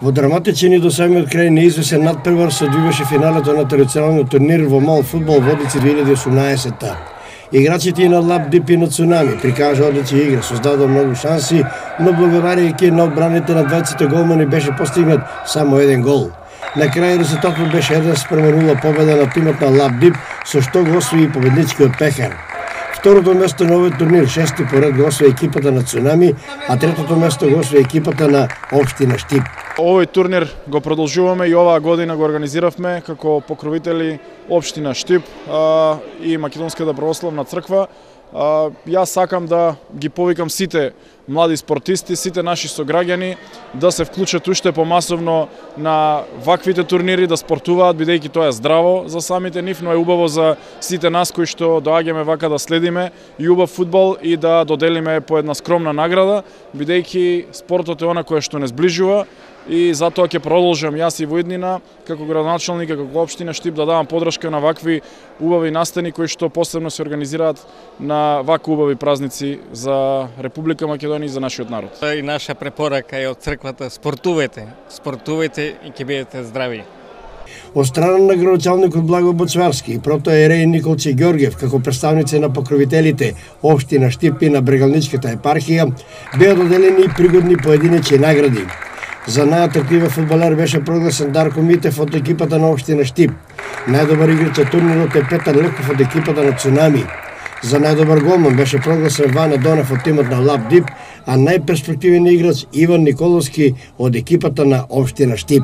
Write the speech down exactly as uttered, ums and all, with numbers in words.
Во драматичен и до самиот крај неизвесен надпревар се одвиваше финалето на традиционалниот турнир во мал фудбал Водици две илјади и осумнаесетта. Играчите и на Лабдип и на Цунами прикажа одлична игра, создадоа многу шанси, но благодарејќи на одбраните на двајцата голмани беше постигнат само еден гол. На крај резултатот беше еден спрема нула победа на тимот на Лабдип, со што го освои победничкиот пехар. Второто место на овој турнир, шести поред, го освои екипата на Цунами, а третото место го освои екипата на Општина Штип. Овој турнир го продолжуваме и оваа година го организиравме како покровители Општина Штип а, и Македонската православна црква. А, јас сакам да ги повикам сите млади спортисти, сите наши сограѓани да се вклучат уште помасовно на ваквите турнири, да спортуваат, бидејќи тоа е здраво за самите нив, но е убаво за сите нас кои што доаѓаме вака да следиме и убав фудбал и да доделиме по една скромна награда, бидејќи спортот е она кое што не сближува и затоа ќе продолжам јас и во иднина како градоначалник, како Општина Штип да давам подршка на вакви убави настани кои што посебно се организираат на вакви убави празници за Република Македонија и за нашиот народ. И наша препорака е од црквата: спортувајте, спортувајте и ќе бидете здрави. Од страна на градоначалникот Благо Боцварски и протоиерей Николче Ѓорѓев како представници на покровителите Општина Штип и на Брегалничката епархија беа доделени пригодни поединечни награди. За најатрактивен фудбалер беше прогласен Дарко Митев од екипата на Општина Штип. Најдобар играч на турнирот е Петар Леков од екипата на Цунами. За најдобар голман беше прогласен Ване Донев од тимот на Лабдип, а најперспективен играч Иван Николовски од екипата на Општина Штип.